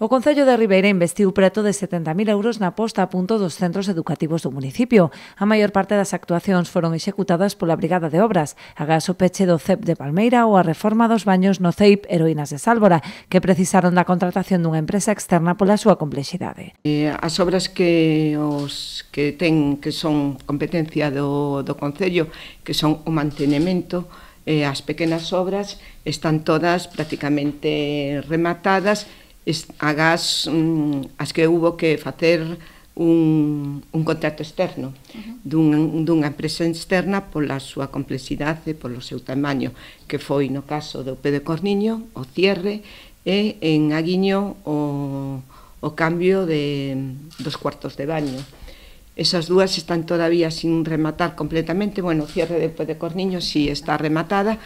O Concello de Ribeira investiu preto de 70.000 euros na posta a punto dos centros educativos do municipio. A maior parte das actuacións foron executadas pola Brigada de Obras, agás o peche do CEP de Palmeira ou a reforma dos baños no CEIP Heroínas de Sálvora, que precisaron da contratación dunha empresa externa pola súa complexidade. As obras que son competencia do Concello, que son o mantenimento, as pequenas obras están todas prácticamente rematadas, agás as que hubo que facer un contrato externo dunha empresa externa pola súa complexidade, polo seu tamaño, que foi no caso do P de Corniño, o cierre, e en Aguiño o cambio dos cuartos de baño. Esas dúas están todavía sin rematar completamente. Bueno, o cierre do P de Corniño sí está rematada,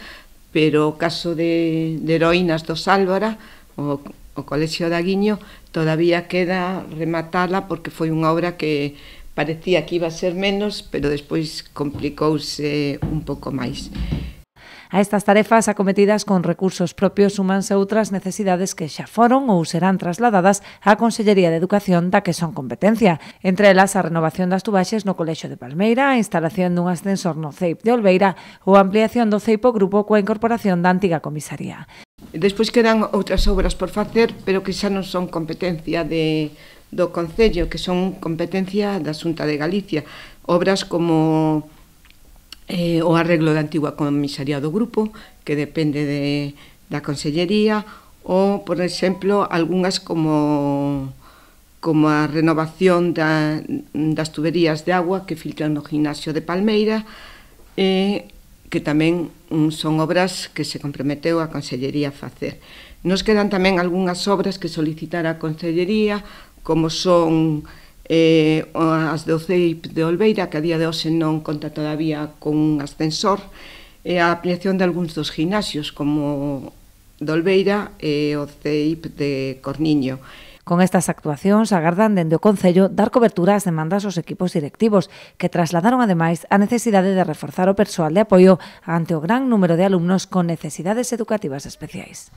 pero o caso de Heroínas do Sálvora, o Colexio de Aguiño, todavía queda rematala porque foi unha obra que parecía que iba a ser menos, pero despois complicouse un pouco máis. A estas tarefas acometidas con recursos propios súmanse outras necesidades que xa foron ou serán trasladadas á Consellería de Educación da que son competencia. Entre elas, a renovación das tubaxes no Colexio de Palmeira, a instalación dun ascensor no CEIP de Olveira ou a ampliación do CEIP o Grupo coa incorporación da antiga comisaría. Despois quedan outras obras por facer, pero que xa non son competencia do Concello, que son competencia da Xunta de Galicia. Obras como o arreglo da antigua comisaría do grupo, que depende da Consellería, ou, por exemplo, algunhas como a renovación das tuberías de agua que filtran no gimnasio de Palmeira, que tamén son obras que se comprometeu a Consellería a facer. Nos quedan tamén algunhas obras que solicitar a Consellería, como son as do CEIP de Olveira, que a día de hoxe non conta todavía con un ascensor, e a ampliación de algúns dos gimnasios, como de Olveira e o CEIP de Corniño. Con estas actuacións agardan dende o Concello dar cobertura ás demandas aos equipos directivos, que trasladaron ademais a necesidade de reforzar o persoal de apoio ante o gran número de alumnos con necesidades educativas especiais.